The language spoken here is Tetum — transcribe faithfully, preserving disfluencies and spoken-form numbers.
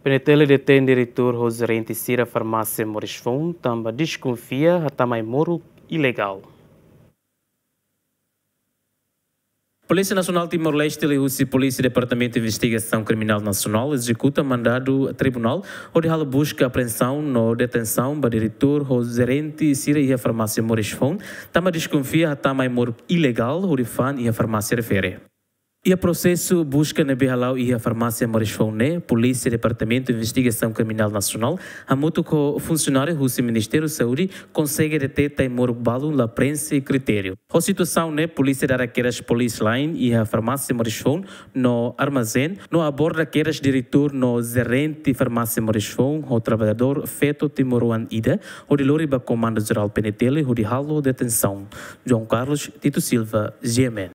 PNTL detein diretór ho jerente sira farmásia Moris Foun tanba deskonfia hatama ai-moruk ilegál. Polísia Nasionál Timor-Leste liuhusi Polísia Departamentu Investigasaun Kriminál Nasionál ezekuta mandadu tribunál hodi halo buska, apreensaun no detensaun ba diretór ho jerente sira iha farmásia Moris Foun tanba deskonfia hatama ai-moruk ilegál hodi fa'an iha farmásia refere. Iha prosesu buska ne'ebé hala'o iha farmásia Moris Foun ne'e, Polísia Departamentu Investigasaun Kriminál Nasionál hamutuk ho funsionáriu husi Ministériu Saúde konsege deteta ai-moruk balun la preenxe kritériu. Ho situasaun ne'e, polísia dada kedas police line iha farmásia Moris Foun no armazén, no aborda kedas diretór no jerente farmásia Moris Foun ho traballadór feto timoroan ida, hodi lori ba Komandu Jerál PNTL hodi halo detensaun. João Carlos Tito Silva, GMN.